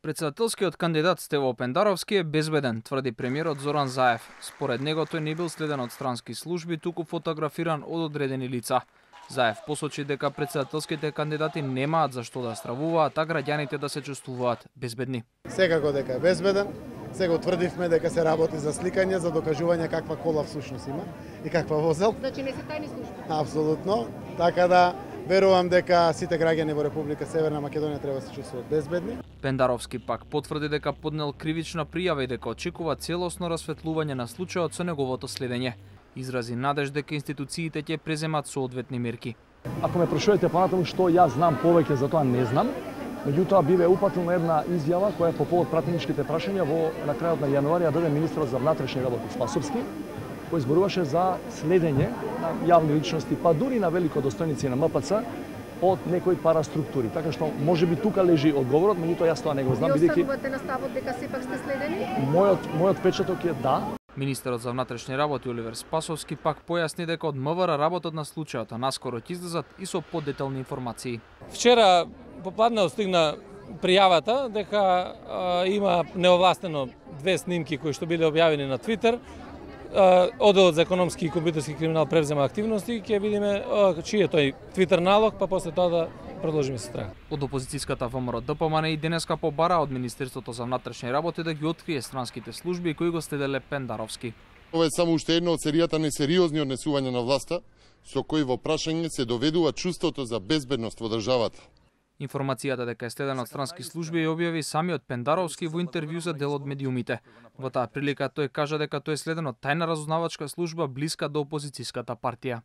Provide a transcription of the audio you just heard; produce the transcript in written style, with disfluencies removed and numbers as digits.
Председателскиот кандидат Стево Пендаровски е безбеден, тврди премиерот Зоран Заев. Според него тој не бил следен од странски служби, туку фотографиран од одредени лица. Заев посочи дека председателските кандидати немаат за што да стравуваат, а граѓаните да се чувствуваат безбедни. Секако дека е безбеден, сега утврдивме дека се работи за сликање, за докажување каква кола всушност има и каква возел. Значи не се тајни служби? Апсолутно, така да верувам дека сите граѓани во Република Северна Македонија треба да се чувствуваат безбедни. Пендаровски пак потврди дека поднел кривична пријава и дека очекува целосно расветлување на случајот со неговото следење. Изрази надеж дека институциите ќе преземат соодветни мерки. Ако ме прашувате понатаму што јас знам повеќе, за тоа не знам. Меѓутоа биве упатилна една изјава која по повод пратеничките прашања на крајот на јануари ја даде министерот за внатрешни работи Спасовски, кој зборуваше за следење на јавни личности, па дури на великодостојници на МПЦ од некои параструктури. Така што можеби тука лежи одговорот, меѓутоа јас тоа не го знам бидејќи останувате на ставот дека сепак сте следени? Мојот печаток е да. Министерот за внатрешни работи Оливер Спасовски пак појасни дека од МВР работат на случајот, а наскоро ќе излезат и со подетални информации. Вчера попладне стигна пријавата дека има неовластено две снимки кои што биле објавени на Твитер. Одделот за економски и компјутерски криминал превзема активности, ќе видиме чиј е тој Твитер налог, па после тоа да продолжиме со страга. Од опозицијската ВМРО ДПМН и денеска побара од Министерството за внатрешни работи да ги открие странските служби кои го следеле Пендаровски. Ова е само уште едно од серијата несериозни однесувања на власта, со кои во прашање се доведува чувството за безбедност во државата. Информацијата дека е следен од странски служби ја објави самиот Пендаровски во интервју за дел од медиумите. Во таа прилика тој кажа дека тој е следен од тајна разузнавачка служба блиска до опозицијската партија.